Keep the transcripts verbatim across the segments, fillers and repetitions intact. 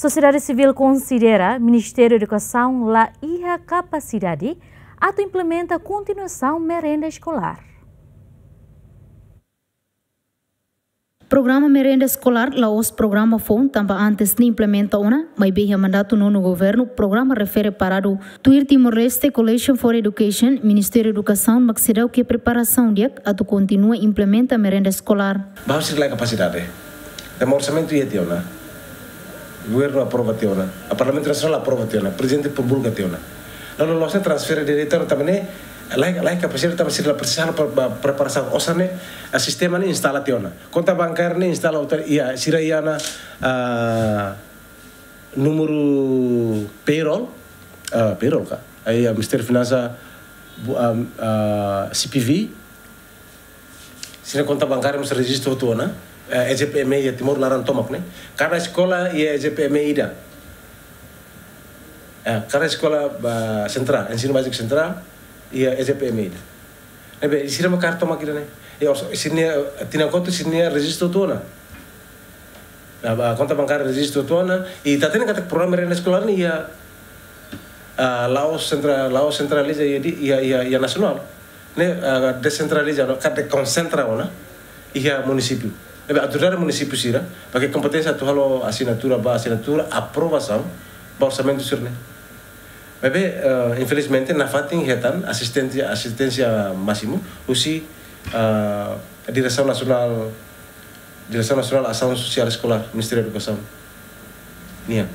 Sosiedade sivíl konsidera Ministériu Edukasaun la iha kapasidade atu implementa kontinuasaun merenda eskolár. Programa merenda eskolár la'ós programa foun tanba antes ne'e implementa ona, maibé iha mandatu nonu governu programa refere paradu. Tuir Timor-Leste Coalition for Education, Ministériu Edukasaun mak seidauk iha preparasaun di'ak atu kontinua implementa merenda eskolár. Bahu sira la iha kapasidade. Tanba orsamentu iha tiha ona. Governu aprova tiha ona. A Parlamentu Nasionál aprova tiha ona. Prezidente promulga tiha ona. La'ós, la'ós ne'e transfere direta ona tanba ne'e la iha, la iha kapasidade tanba sira la presiza halo pre-, pre-, preparasaun. Osan ne'e, a sistema ne'e instala tiha ona. Konta bankária ne'e instala hotu, iha, sira iha ona, ah, númeru payroll, ah, payroll ka. Aí, ah, Ministériu Finansa, bu-, ah, ah, C P V, sira-nia konta bankária mós rejistu hotu ona, eh, E J P M E iha Timor laran tomak ne'e. Kada eskola iha E J P M E ida. Eh, kada eskola, ah, sentrál, ensinu báziku sentrál, iha E J P M E ida. Ne'ebé, sira mak kaer tomak ida-ne'e. Iha os-, sira-nia, eh, tinan kotuk sira-nia rejistu hotu ona. Ah, ah, konta bankária rejistu hotu ona. I ita hatene katak programa merenda eskolár ne'e iha, ah, la'ós sentra-, la'ós sentraliza iha di-, iha, iha, iha nasionál. Ne'e, ah, desentraliza ona, ka dekonsentra ona iha munisípiu. Ne'ebé autoridade munisípiu sira, ba iha kompeténsia atu halo asinatura ba asinatura, aprovasaun ba orsamentu sira-ne'e. Maibé, eh, infelizmente, nafatin hetan asisténsia, asisténsia másimu husi, ah, Diresaun Nasionál, Diresaun Nasionál Asaun Sosiál Eskolár, Ministériu Edukasaun nian.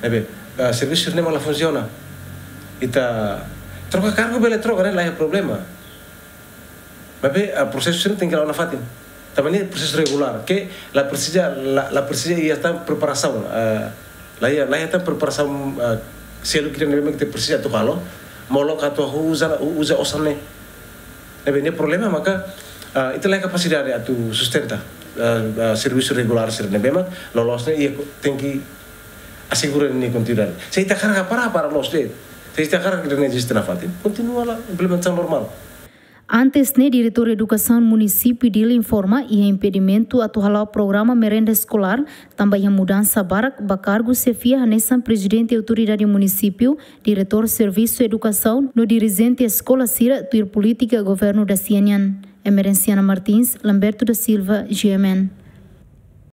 Ne'ebé, eh, servisu ne'e mak la funsiona. Ita troka kargu bele troka, ne'e la iha problema. Maibé, eh, prosesu sira tenke la'o nafatin. Tanba ne'e prosesu regulár, ke la presiza, la, la presiza iha tan preparasaun, eh, la iha, la iha tan preparasaun, eh, seluk ida ne'ebé mak ita presiza atu halo, molok atu uza, uza osan ne'e. Ne'ebé ne'e problema maka, eh, ita la iha kapasidade atu sustenta, eh, eh, servisu regulár sira ne'ebé mak loloos ne'e iha ko-, tenke asegura nia kontinuidade. Se ita hakarak para, para loos de'it. Se ita hakarak ida-ne'e eziste nafatin, kontinua hela implementasaun normál. Antes ne'e, Diretór Edukasaun Munisípiu Dili informa iha impedimentu atu hala'o programa merenda eskolár, tanba iha mudansa barak ba kargu xefia hanesan Prezidente Autoridade Munisípiu, Diretór Servisu Edukasaun, no dirijente eskola sira tuir polítika governu dasia nian. Emerenciana Martins, Lamberto da Silva, G M N.